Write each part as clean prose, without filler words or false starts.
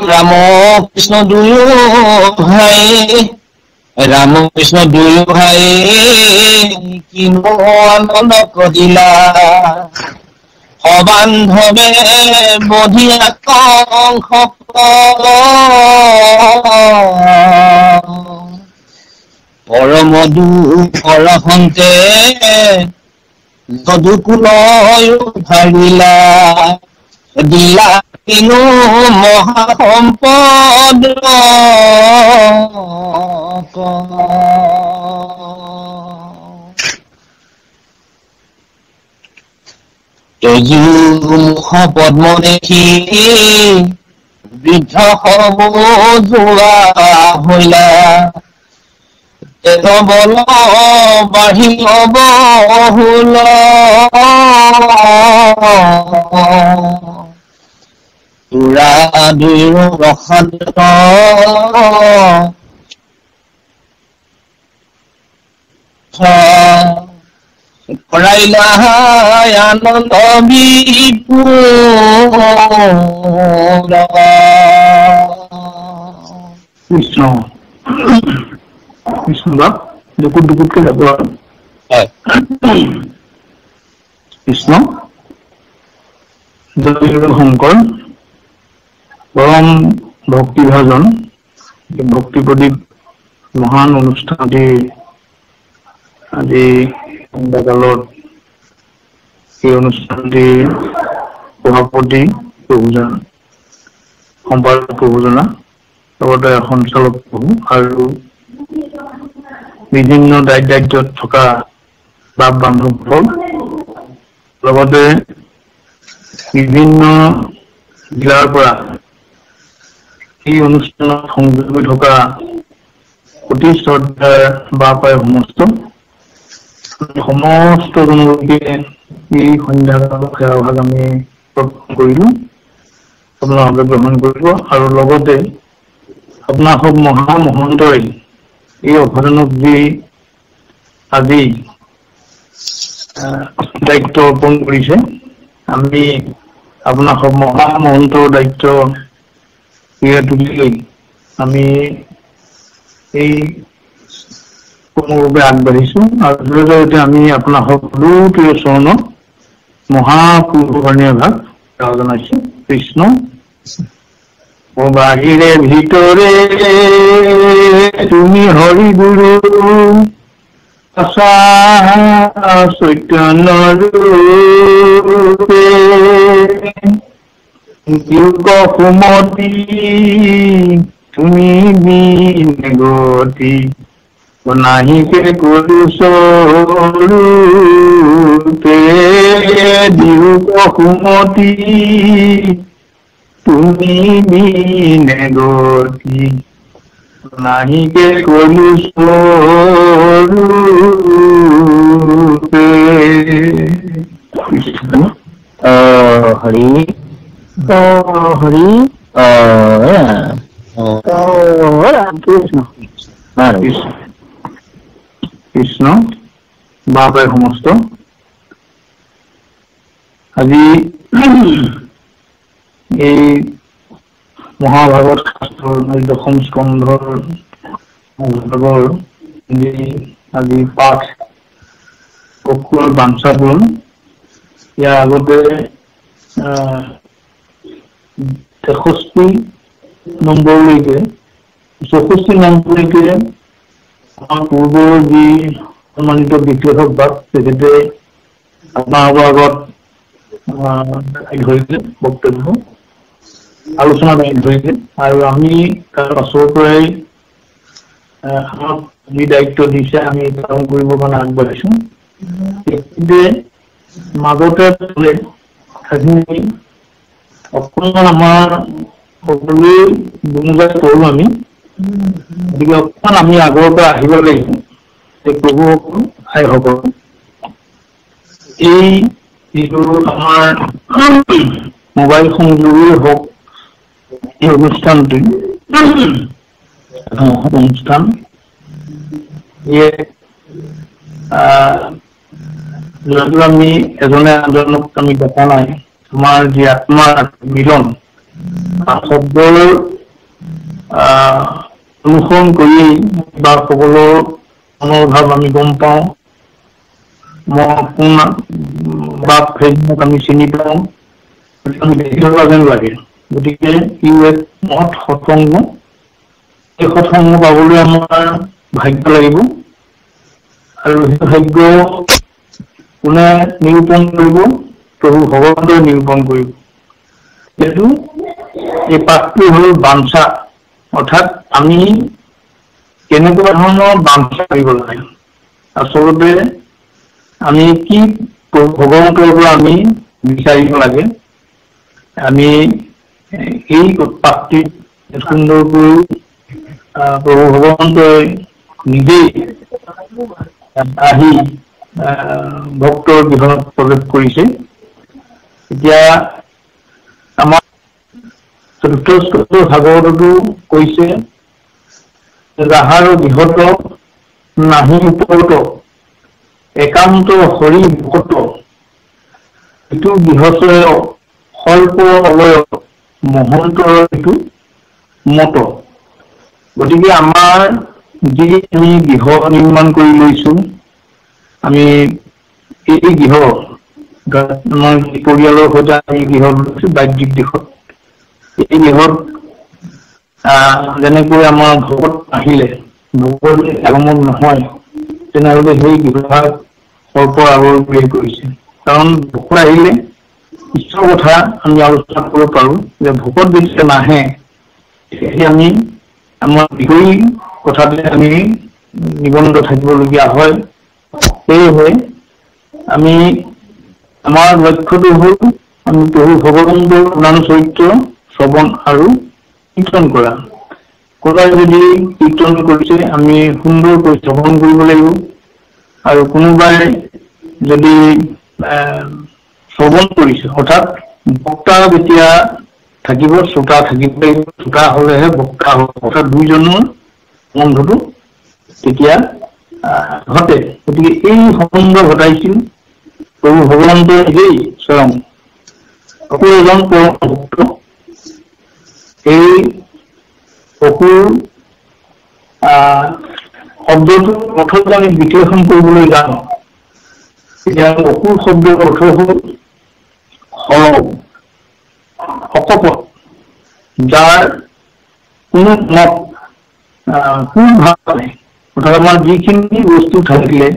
ৰাম কৃষ্ণ দুয়ো ভাই, ৰাম কৃষ্ণ দুয়ো ভাই কিনো আনন্দ দিলা। সবান্ধৱে বধিয়া কংস পৰম দুখৰ হন্তে যদুকুল ভাৰিলা, দিলা কিনো মহাসম্পদ। তজু মুখ পদ্ম দেখি বৃদ্ধ সব যোৱা হইলা, বল বাঢ়ি বহুল। তোৰা দুয়ো ৰসান্ত কৰাইলা আনন্দ বিপুল। কৃষ্ণ কৃষ্ণ বাপ, দুকুট দুকুটকে যাব আৰু। কৃষ্ণ। জয় শংকৰ। পৰম ভক্তিভাজন ভক্তি প্ৰদীপ মহান অনুষ্ঠানটি আজি সন্ধ্যাকালত এই অনুষ্ঠানটিৰ সভাপতি প্ৰভুজন, সম্পাদক প্ৰভুজনা, লগতে সঞ্চালক প্ৰভু আৰু বিভিন্ন দায়িত্ব দায়িত্বত থকা বাপ বান্ধৱসকল, লগতে বিভিন্ন জিলাৰ পৰা এই অনুষ্ঠানত সংযোগ হৈ থকা অতি শ্ৰদ্ধাৰ বাপ আই সমস্ত সমস্ত জনলোকে এই সন্ধ্যাকালৰ সেৱাভাগ আমি অৰ্পণ কৰিলো, আপোনালোকে গ্ৰহণ কৰিব। আৰু লগতে আপোনাৰ সব মহামহন্তই এই অভয়াৰণ্যক যি আজি দায়িত্ব অৰ্পণ কৰিছে, আমি আপোনাৰ সব মহামহন্তৰ দায়িত্ব তুলি লৈ আমি এই কৰ্মৰ বাবে আগবাঢ়িছো। আৰু জৰিয়তে আমি আপোনাৰ সকলো প্ৰিয় চৰণত মহাপুৰুষণীয় ভাগ সেৱা জনাইছো। কৃষ্ণ। বাহিৰে ভিতৰে তুমি হৰি গুৰু চৈতন্য ৰূপে, সুমতি তুমি গতি নাহিকে কৰু স্বৰূপে, দিয়োক সুমতি তুমি বিনে গতি নাহিকে কলু স্বৰূপে। কৃষ্ণ হৰি হৰি অ ৰাম। কৃষ্ণ কৃষ্ণ। বাপে সমস্ত আজি এই মহাভাৰত শাস্ত্ৰৰ দশম স্কন্ধৰ ভাগৰ যি আজি পাঠ অকুলৰ বাঞ্ছা পূৰণ, ইয়াৰ আগতে 63 নম্বৰলৈকে, 64 নম্বৰলৈকে আমাৰ পূৰ্বৰ যি সন্মানিত বিশ্লেষক বাপ, তেখেতে আপোনালোকৰ আগত ধৰিলে বক্তব্য আলোচনা দাঙি ধৰিলে, আৰু আমি তাৰ পাছৰ পৰাই আমাক যি দায়িত্ব দিছে আমি পালন কৰিবৰ কাৰণে আগবাঢ়িছো। তেখেতে মাজতে কথাখিনি অকণমান আমাৰ সকলোৱে বুজাই কৰোঁ আমি, গতিকে অকণমান আমি আগৰ পৰা আহিব লাগিব। এই প্ৰভুসকল, আইসকল, এই যিটো আমাৰ মোবাইল সংযোগেই হওক, এই অনুষ্ঠানটো অনুষ্ঠান যদিও আমি এজনে আনজনক আমি দেখা নাই, আমাৰ যি আত্মাৰ মিলন, শব্দৰ অনুসৰণ কৰি বাপসকলৰ মনৰ ভাৱ আমি গম পাওঁ, কোন বাপ সেইজনক আমি চিনি পাওঁ, আমি দেখি থকা যেন লাগে। গতিকে ই এক মহৎ সৎসংগ। এই সৎসংগ পাবলৈ আমাৰ ভাগ্য লাগিব, আৰু সেই ভাগ্য কোনে নিৰূপণ কৰিব? প্ৰভু ভগৱন্তই নিৰূপণ কৰিব। যিহেতু এই পাঠটো হ'ল বাঞ্ছা, অৰ্থাৎ আমি কেনেকুৱা ধৰণৰ বাঞ্ছা কৰিব লাগে, আচলতে আমি কি ভগৱন্তৰ পৰা আমি বিচাৰিব লাগে, আমি এই পাঠটিত সুন্দৰকৈ প্ৰভু ভগৱন্তই নিজেই আহি ভক্তৰ গৃহত প্ৰৱেশ কৰিছে। এতিয়া আমাৰ চতুৰ্থ স্কন্ধ ভাগৱততো কৈছে, যাহাৰ গৃহত নাহি ওপৰত একান্ত হৰি ভকত, ইটো গৃহচয় সৰ্প অলয় মহন্তৰ এইটো মত। গতিকে আমাৰ যি আমি গৃহ নিৰ্মাণ কৰি লৈছো, আমি এই গৃহ আমাৰ পৰিয়ালৰ সৈতে আমি গৃহ লৈছো বাহ্যিক দিশত, এই গৃহত যেনেকৈ আমাৰ ভকত আহিলে ভকত আগমন নহয়, তেনেহ'লে সেই গৃহভাগ সৰ্পৰ আগৰ বুলি কৰিছে। কাৰণ ভকত আহিলে ঈশ্বৰৰ কথা আমি আলোচনা কৰিব পাৰো, যে ভকত যেতিয়া নাহে তেতিয়া আমি আমাৰ বিষয়ী কথাতে আমি নিবন্ধ থাকিবলগীয়া হয়। সেয়েহে আমি আমাৰ লক্ষ্যটো হ'ল আমি প্ৰভু ভগৱন্তৰ নাম চৰিত্ৰ শ্ৰৱণ আৰু কীৰ্তন কৰা। কোনোবাই যদি কীৰ্তন কৰিছে আমি সুন্দৰকৈ শ্ৰৱণ কৰিব লাগিব, আৰু কোনোবাই যদি শ্ৰৱণ কৰিছে, অৰ্থাৎ বক্তা যেতিয়া থাকিব শ্ৰোতা থাকিব লাগিব, শ্ৰোতা হলেহে বক্তা হ'ব, অৰ্থাৎ দুইজনৰ সম্বন্ধটো তেতিয়া ঘটে। গতিকে এই সম্বন্ধ ঘটাইছিল প্ৰভু ভগৱন্তই নিজেই স্বয়ং। অসুৰ এজন পৰম ভক্ত, এই অসুৰ শব্দটোৰ অৰ্থ যদি আমি বিশ্লেষণ কৰিবলৈ যাওঁ, তেতিয়া অসুৰ শব্দৰ অৰ্থ হ'ল সৰল, অকপট, যাৰ কোনো মত কোনো ভাৱ নাই। অৰ্থাৎ আমাৰ যিখিনি বস্তু থাকিলে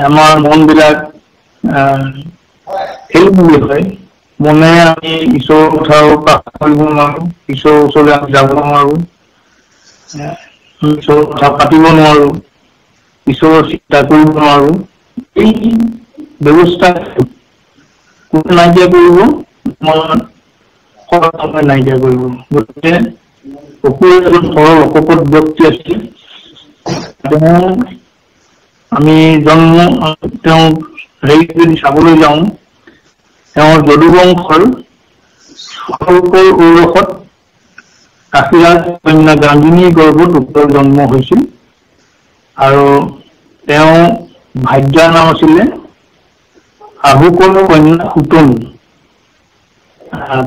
আমাৰ মনবিলাক খেলি হয়, মনে আমি ঈশ্বৰৰ কথাও প্ৰকাশ কৰিব নোৱাৰো, ঈশ্বৰৰ ওচৰলৈ আমি যাব নোৱাৰো, ঈশ্বৰৰ কথা পাতিব নোৱাৰো, ঈশ্বৰৰ চিন্তা কৰিব নোৱাৰো। এই ব্যৱস্থা কোনে নাইকিয়া কৰিব? আমাৰ নাইকিয়া কৰিব। গতিকে অসুৰ এজন সৰল অকপট ব্যক্তি আছিল। তেওঁ আমি জন্ম তেওঁ হেৰি যদি চাবলৈ যাওঁ, তেওঁৰ যদুবংশৰ সৰ্পৰ ঔৰসত কাশীৰাজ কন্যা গাঙ্গিনীৰ গৰ্ভত উত্তৰ জন্ম হৈছিল, আৰু তেওঁ ভাৰ্যাৰ নাম আছিলে আহুকৰ কন্যা সুতনু।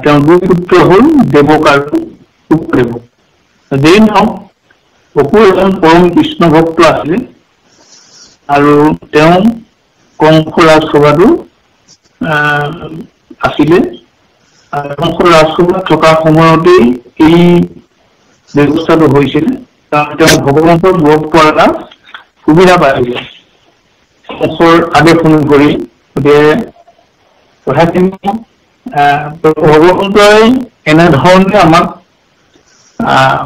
তেওঁৰ দুই পুত্ৰ হ'ল দেৱক আৰু উপদেৱক। যেই নহওক, অসুৰ এজন পৰম কৃষ্ণ ভক্ত আছিলে, আৰু তেওঁ কংস ৰাজসভাতো আছিলে। কংস ৰাজসভাত থকা সময়তেই এই ব্যৱস্থাটো হৈছিলে, কাৰণ তেওঁ ভগৱন্তক লগ পোৱাৰ এটা সুবিধা পাইছিলে কংসৰ আদেশ অনুসৰি। গতিকে কথাখিনি ভগৱন্তই এনেধৰণে আমাক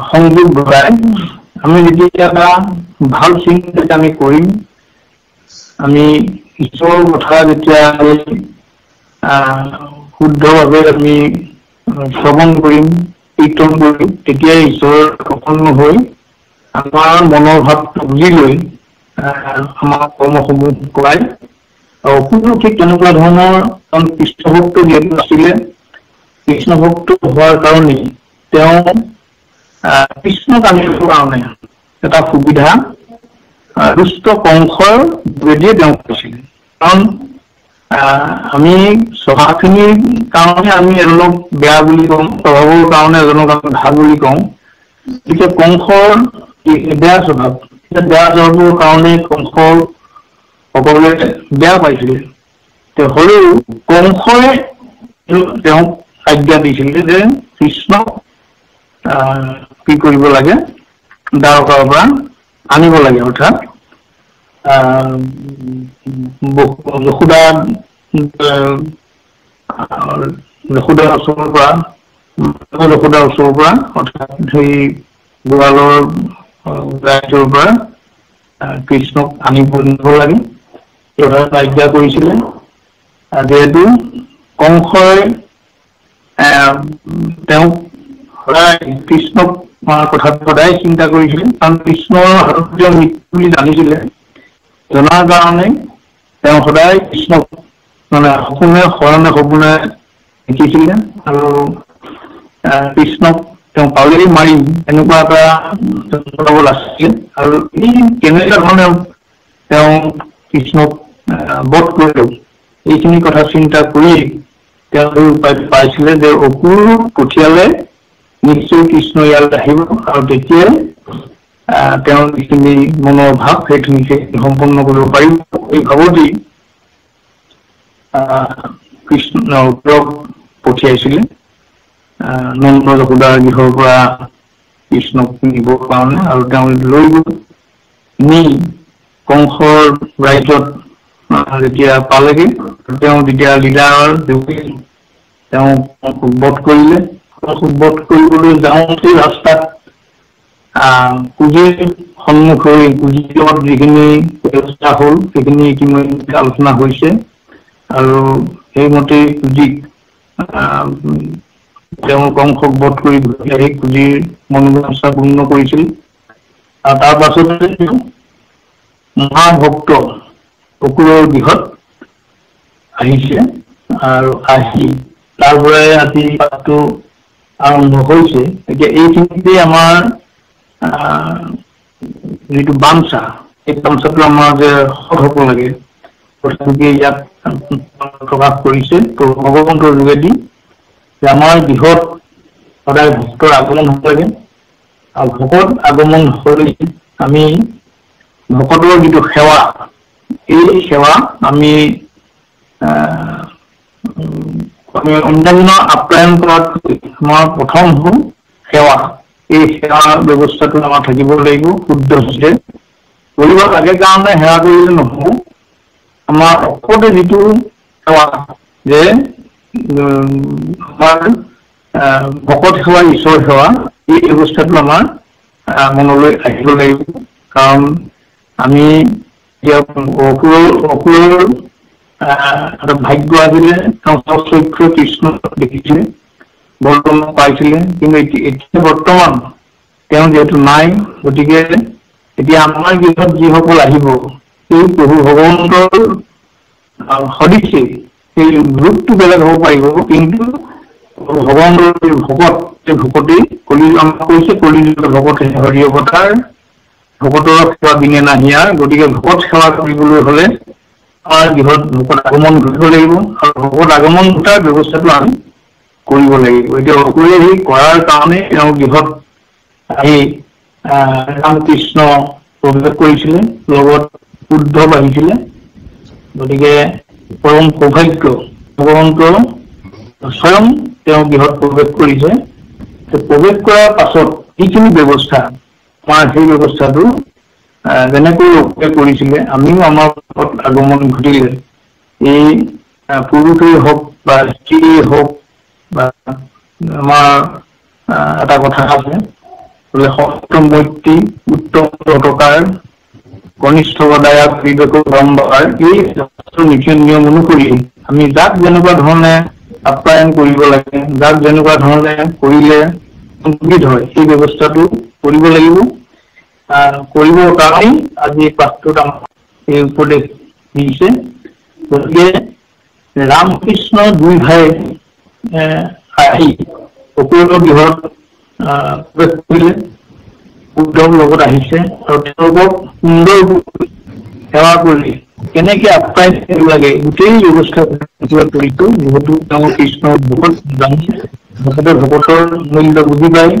সংযোগ ঘটাই। আমি যেতিয়া এটা ভাল চিন্তা আমি কৰিম, আমি ঈশ্বৰৰ কথা যেতিয়া শুদ্ধভাৱে আমি শ্ৰৱণ কৰিম, কীৰ্তন কৰিম, তেতিয়াই ঈশ্বৰ প্ৰসন্ন হৈ আমাৰ মনৰ ভাৱটো বুজি লৈ আমাৰ কৰ্মসমূহ কৰায়। আৰু অসুৰো ঠিক তেনেকুৱা ধৰণৰ এজন কৃষ্ণভক্ত যিহেতু আছিলে, কৃষ্ণভক্ত হোৱাৰ কাৰণেই তেওঁ কৃষ্ণক আনিবৰ কাৰণে এটা সুবিধা দুষ্ট কংসৰ যোগেদিয়ে তেওঁ কৈছিল। কাৰণ আমি স্বভাৱখিনিৰ কাৰণে আমি এজনক বেয়া বুলি কওঁ, স্বভাৱৰ কাৰণে এজনক আমি ভাল বুলি কওঁ। এতিয়া কংসৰ বেয়া স্বভাৱ, বেয়া স্বভাৱৰ কাৰণে কংসৰ সকলোৱে বেয়া পাইছিলে। হ'লেও কংসই তেওঁক আজ্ঞা দিছিলে যে কৃষ্ণক কি কৰিব লাগে, দ্বাৰকাৰ পৰা আনিব লাগে, অৰ্থাৎ যশোদাৰ ওচৰৰ পৰা, যশোদাৰ ওচৰৰ পৰা, অৰ্থাৎ সেই গোৱালৰ ৰাজ্যৰ পৰা কৃষ্ণক আনিব লাগে, আজ্ঞা কৰিছিলে। যিহেতু কংসই তেওঁক সদায় কৃষ্ণক কথাটো সদায় চিন্তা কৰিছিলে, কাৰণ কৃষ্ণৰ হাতত তেওঁ মৃত্যু বুলি জানিছিলে, জনাৰ কাৰণে তেওঁ সদায় কৃষ্ণক মানে সপোনে শৰণে সপোনে দেখিছিলে আৰু কৃষ্ণক তেওঁ পালেই মাৰিম এনেকুৱা এটা আছিলে। আৰু এই কেনেকুৱা ধৰণে তেওঁ কৃষ্ণক বধ কৰিলেও এইখিনি কথা চিন্তা কৰি তেওঁ এই উপায় পাইছিলে যে অকুৰ পঠিয়ালে নিশ্চয় কৃষ্ণ ইয়ালৈ আহিব আৰু তেতিয়াই তেওঁৰ যিখিনি মনৰ ভাৱ সেইখিনি সম্পন্ন কৰিব পাৰিব। এই ভাৱতেই কৃষ্ণ অকুৰক পঠিয়াইছিলে নন্দ যশোদাৰ গৃহৰ পৰা কৃষ্ণক নিবৰ কাৰণে, আৰু তেওঁ লৈ গ'ল। নি কংসৰ ৰাজ্যত যেতিয়া পালেগে, তেওঁ তেতিয়া লীলাৰ যোগেদি তেওঁ বধ কৰিলে। বধ কৰিবলৈ যাওঁতে ৰাস্তাত কুঁজীৰ সন্মুখ হৈ কুঁজীৰ লগত যিখিনি ব্যৱস্থা হ'ল সেইখিনি ইতিমধ্যে আলোচনা হৈছে আৰু সেইমতে কুঁজীক তেওঁ কংসক বধ কৰি ঘূৰি আহি কুঁজীৰ মনোবাঞ্ছা পূৰ্ণ কৰিছিল। আৰু তাৰ পাছতে মহাভক্ত অকুৰৰ গৃহত আহিছে আৰু আহি তাৰ পৰাই আজি পাঠটো আৰম্ভ হৈছে। এতিয়া এইখিনিতে আমাৰ যিটো বাঞ্ছা, এই বাঞ্ছাটো আমাৰ যে সৎ হ'ব লাগে, গতিকে ইয়াত প্ৰকাশ কৰিছে ভগৱন্তৰ যোগেদি যে আমাৰ গৃহত সদায় ভক্তৰ আগমন হ'ব লাগে আৰু ভকত আগমন হ'লে আমি ভকতৰ যিটো সেৱা, এই সেৱা আমি অন্যান্য আপ্যায়ন কৰাতকৈ আমাৰ প্ৰথম হ'ল সেৱা। এই সেৱা ব্যৱস্থাটো আমাৰ থাকিব লাগিব শুদ্ধ হৈছে কৰিব লাগে কাৰণে সেৱা কৰিলে নহ'ব। আমাৰ অকতে যিটো সেৱা যে আমাৰ ভকত সেৱা, ঈশ্বৰ সেৱা, এই ব্যৱস্থাটো আমাৰ মনলৈ আহিব লাগিব। কাৰণ আমি অসুৰৰ এটা ভাগ্য আছিলে, তেওঁ চক্ষু কৃষ্ণ দেখিছিলে, বৰ্তমান পাইছিলে, কিন্তু এতিয়া বৰ্তমান তেওঁ যিহেতু নাই, গতিকে এতিয়া আমাৰ গৃহত যিসকল আহিব সেই প্ৰভু ভগৱন্তৰ সদৃশেই, সেই ৰূপটো বেলেগ হ'ব পাৰিব, কিন্তু ভগৱন্তৰ ভকত, সেই ভকতেই কলি আমাক কৈছে কলিযুগৰ ভকত হৰি অৱতাৰ, ভকতৰ সেৱা বিনে নাহিয়াৰ। গতিকে ভকত সেৱা কৰিবলৈ হ'লে আমাৰ গৃহত ভকত আগমন ঘটিব লাগিব আৰু ভকত আগমন ঘটাৰ ব্যৱস্থাটো আমি কৰিব লাগিব। এতিয়া অকুৰে সেই কৰাৰ কাৰণে তেওঁ গৃহত আহি ৰামকৃষ্ণ প্ৰৱেশ কৰিছিলে, লগত উদ্ধৱ আহিছিলে। গতিকে পৰম সৌভাগ্য ভগৱন্ত স্বয়ং তেওঁ গৃহত প্ৰৱেশ কৰিছে। প্ৰৱেশ কৰাৰ পাছত যিখিনি ব্যৱস্থা আমাৰ সেই ব্যৱস্থাটো যেনেকৈ অকুৰে কৰিছিলে, আমিও আমাৰ আগমন ঘটিলে এই পুৰুষেই হওক বা স্ত্ৰীয়েই হওক বা আমাৰ এটা কথা আছে বোলে সপ্তম মৈত্ৰী উত্তম টকাৰ কনিষ্ঠ দায়া বিবেক বাৰম্বাৰ, এই নীতি নিয়ম অনুসৰি আমি যাক যেনেকুৱা ধৰণে আপ্যায়ন কৰিব লাগে, যাক যেনেকুৱা ধৰণে কৰিলে সুবিধ হয়, সেই ব্যৱস্থাটো কৰিব লাগিব। কৰিবৰ কাৰণেই আজি পাঠটোত আমাক এই উপদেশ দিছে। গতিকে ৰামকৃষ্ণ দুই ভাই আহি অকুৰৰ গৃহত প্ৰৱেশ কৰিলে, উদ্ধৱ লগত আহিছে আৰু তেওঁলোকক সুন্দৰ সেৱা কৰি কেনেকে আপ্যায়ন কৰিব লাগে, গোটেই ব্যৱস্থা কৰিছো। যিহেতু তেওঁ কৃষ্ণৰ বহুত জানি, ভকতে ভকতৰ মূল্য বুজি পায়।